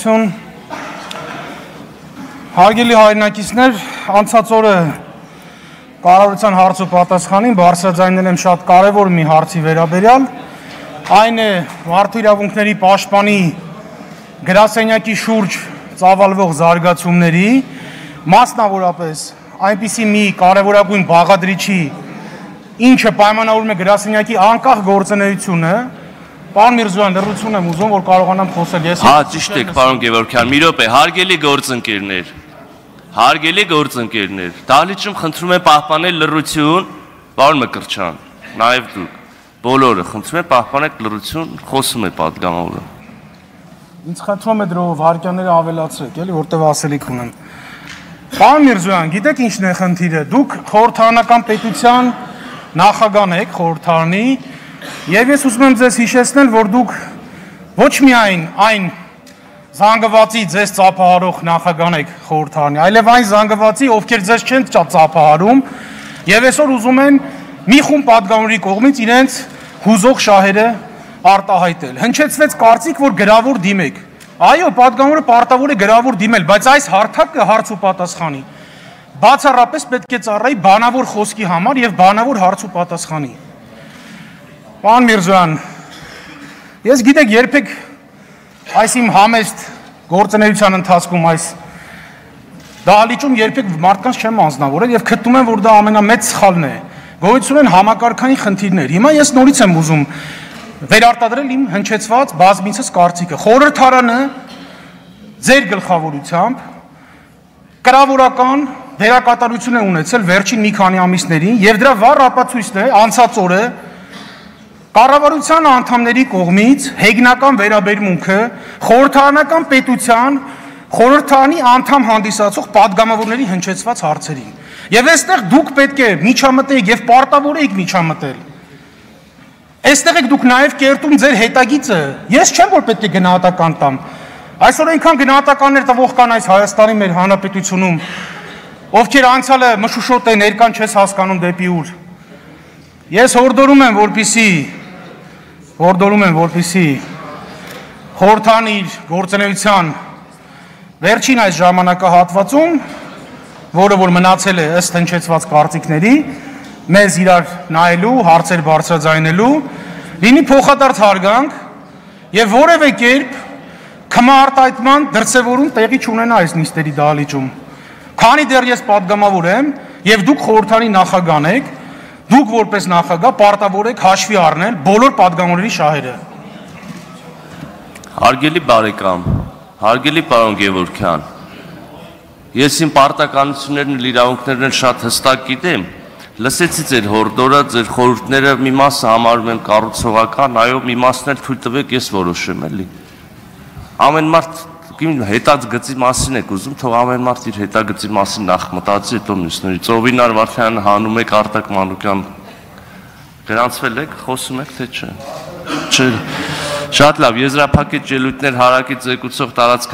Շնորհակալություն։ Հարգելի հայրենակիցներ, անցած օրը կառավարության հարց ու պատասխանին բարձրաձայնել եմ շատ կարևոր մի հարցի վերաբերյալ, այն է մարդու իրավունքների պաշտպանի գրասենյակի շուրջ ծավալվող զարգացումների, մասնավորապես այնպիսի մի կարևորագույն բաղադրիչի, ինչը պայմանավորում է գրասենյակի անկախ գործունեությունը, Պարոն Միրզոյան, լրություն եմ ուզում, որ կարողանամ խոսել ես։ Հա, ճիշտ եք, պարոն Գևորգյան, մի րոպե, հարգելի գործընկերներ, դահլիճում խնդրում եմ պահպանել լռություն, պարոն Մկրտչյան, նաև դուք, բոլորը խնդրում եմ պահպանեք լռություն, խոսում է պատգամավորը։ Ինձ խնդրում է դրով վարքյանները ավելացրեք, էլի, որտեղ ասելիք ունեմ։ Պարոն Միրզոյան, գիտեք ինչն է խնդիրը, դուք խորհրդարանական պետության նախագահն եք, խորհրդարանի, եւ ես ուզում եմ ձեզ հիշեցնել, որ դուք ոչ միայն այն զանգվածի ձեզ ծափահարող նախագահն եք խորհրդարանի, այլև այն զանգվածի, ովքեր ձեզ չեն ծափահարում, եւ այսօր ուզում են մի խումբ պատգամավորի կողմից իրենց հուզող շահերը արտահայտել։ Հնչեցվեց կարծիք, որ գրավոր դիմեք։ Այո, պատգամավորը պարտավոր է գրավոր դիմել, բայց այս հարթակը հարց ու պատասխանի բացառապես պետք է ծառայի բանավոր խոսքի համար եւ բանավոր հարց ու պատասխանի։ Պարոն Միրզոյան, ես գիտեք երբեք այս իմ համեստ գործունեության ընթացքում այս դահլիճում երբեք մարդկանց չեմ անձնավորել եւ գտնում եմ, որ դա ամենամեծ սխալն է։ Գոյություն են համակարգային խնդիրներ։ Հիմա ես նորից եմ ուզում վերարտադրել իմ հնչեցված բազմիցս կարծիքը։ Խորհրդարանը ձեր գլխավորությամբ կրավորական դերակատարություն է ունեցել վերջին մի քանի ամիսներին եւ դրա վառ ապացույցն է անցած օրը Կառավարության անդամների կողմից հեգնական վերաբերմունքը խորհրդարանական պետության խորհրդարանի անդամ հանդիսացող պատգամավորների հնչեցված հարցերին։ Եվ այստեղ դուք պետք է միջամտեք եւ պարտավոր եք միջամտել։ Այստեղ եք դուք նաեւ կերտում ձեր հետագիծը։ Ես չեմ որ պետք է գնահատական տամ։ Այսօր այնքան գնահատականներ տվող կան այս Հայաստանի մեր հանրապետությունում, ովքեր անցյալը մշուշոտ է ներկան չես հասկանում դեպի ուր։ Ես հորդորում եմ, որպեսզի խորհրդարանի գործունեության վերջին այս ժամանակահատվածում, որը որ մնացել է ըստ հնչեցված կարծիքների, մեզ իրար նայելու, հարցեր բարձրաձայնելու, լինի փոխադարձ հարգանք եւ որևէ կերպ քմարտայտման դրսևորում տեղի չունենա այս նիստերի դահլիճում։ Քանի դեռ ես պատգամավոր եմ եւ դուք խորհրդարանի նախագահն եք, դուք որպես նախագահ պարտավոր եք հաշվի առնել բոլոր պատգամավորների շահերը։ Հարգելի բարեկամ, հարգելի պարոն Գևորգյան, ես իմ պարտականություններն ու իրավունքներն շատ հստակ գիտեմ, լսեցի ձեր հորդորը, ձեր խորհուրդները մի մասը համարում եմ կառուցողական, այո, մի մասն էլ թույլ տվեք ես որոշեմ, էլի։ Ամեն մարդ հետագծի մասին եք ուզում, թող ամեն մարդ իր հետագծի մասին նախ մտածի, հետո մյուսների։ Ծովինար Վարդանյան հանում եք, Արտակ Մանուկյան գրանցվել եք, խոսում եք, թե չէ։ Չէ։ Շատ լավ, եզրափակիչ ելույթներ հարակից զեկուցող տարածքային